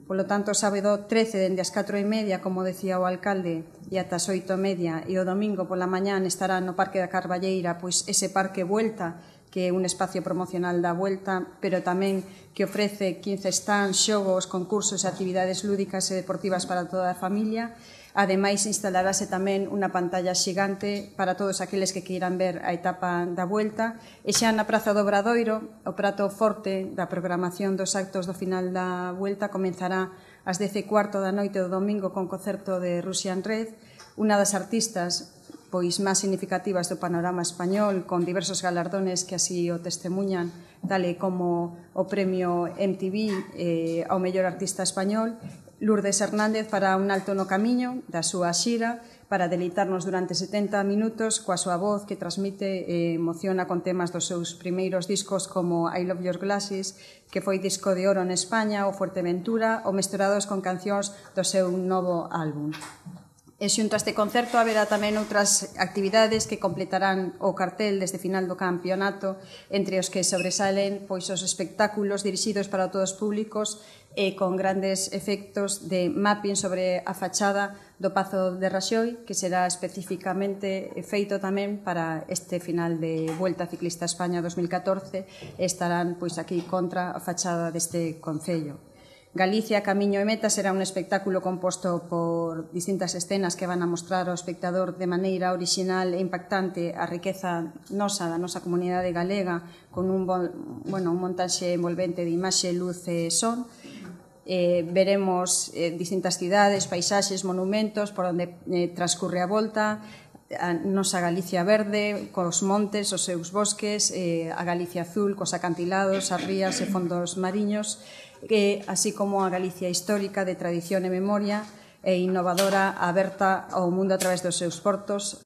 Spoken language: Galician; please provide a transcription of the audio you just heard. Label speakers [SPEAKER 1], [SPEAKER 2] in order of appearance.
[SPEAKER 1] Polo tanto, sábado 13, dende as 4:30, como decía o alcalde, e ata as 8:30, e o domingo pola mañán estará no Parque da Carballeira, pois ese Parque Vuelta, que é un espacio promocional da Vuelta, pero tamén que ofrece 15 stands, xogos, concursos e actividades lúdicas e deportivas para toda a familia. Ademais, instalarase tamén unha pantalla xigante para todos aqueles que queiran ver a etapa da Vuelta. E xa na Praza do Obradoiro, o prato forte da programación dos actos do final da Vuelta comenzará ás 10:15 da noite do domingo con concerto de Russian Red, unha das artistas pois máis significativas do panorama español, con diversos galardones que así o testemunhan, tal e como o premio MTV ao mellor artista español. Lourdes Hernández fará un alto no camiño da súa xira para deleitarnos durante 70 minutos coa súa voz que transmite e emociona con temas dos seus primeiros discos como I Love Your Glasses, que foi disco de oro en España, o Fuerteventura, ou mesturados con cancións do seu novo álbum. E xunto a este concerto haberá tamén outras actividades que completarán o cartel desde final do campeonato, entre os que sobresalen pois os espectáculos dirixidos para todos os públicos e con grandes efectos de mapping sobre a fachada do Pazo de Raxoi, que será especificamente feito tamén para este final de Vuelta Ciclista a España 2014 e estarán pois aquí contra a fachada deste concello. Galicia, Camiño e Meta será un espectáculo composto por distintas escenas que van a mostrar ao espectador de maneira orixinal e impactante a riqueza nosa, da nosa comunidade galega, con un montaxe envolvente de imaxe, luz e son. Veremos distintas cidades, paisaxes, monumentos por onde transcurre a volta, a nosa Galicia verde, cos montes, os seus bosques, a Galicia azul, cos acantilados, as rías e fondos mariños, así como a Galicia histórica de tradición e memoria e innovadora, aberta ao mundo a través dos seus portos.